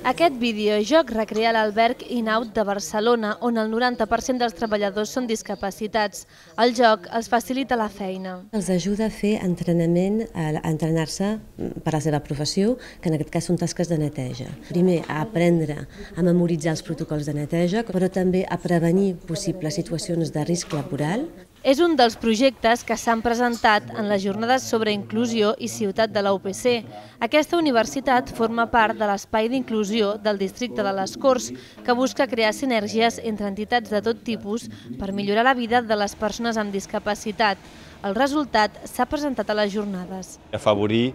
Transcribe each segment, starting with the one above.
Aquest videojoc recrea l'alberg In-Out de Barcelona, on el 90% dels treballadors són discapacitats. El joc els facilita la feina. Els ajuda a fer entrenament, a entrenar-se per a la seva professió, que en aquest cas són tasques de neteja. Primer, a aprendre a memoritzar els protocols de neteja, però també a prevenir possibles situacions de risc laboral. És un dels projectes que s'han presentat en les jornades sobre inclusió i ciutat de la UPC. Aquesta universitat forma part de l'espai d'inclusió del districte de les Corts, que busca crear sinergies entre entitats de tot tipus per millorar la vida de les persones amb discapacitat. El resultat s'ha presentat a les jornades. Afavorir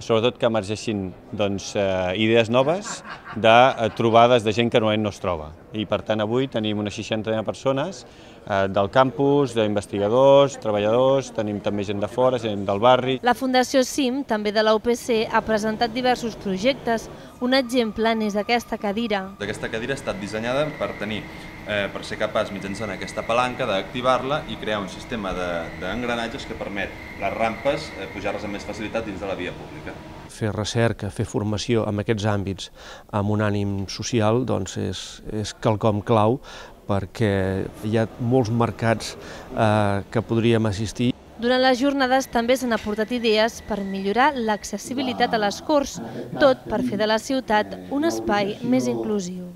sobretot que emergeixin idees noves de trobades de gent que normalment no es troba. I per tant avui tenim unes 60 persones del campus, d'investigadors, treballadors, tenim també gent de fora, gent del barri. La Fundació CIM, també de la UPC, ha presentat diversos projectes. Un exemple n'és aquesta cadira. Aquesta cadira ha estat dissenyada per ser capaç, mitjançant aquesta palanca, d'activar-la i crear un sistema d'engranatges que permet les rampes pujar-les amb més facilitat dins de la via pública. Fer recerca, fer formació en aquests àmbits amb un ànim social és quelcom clau, perquè hi ha molts mercats que podríem assistir. Durant les jornades també s'han aportat idees per millorar l'accessibilitat a les Corts, tot per fer de la ciutat un espai més inclusiu.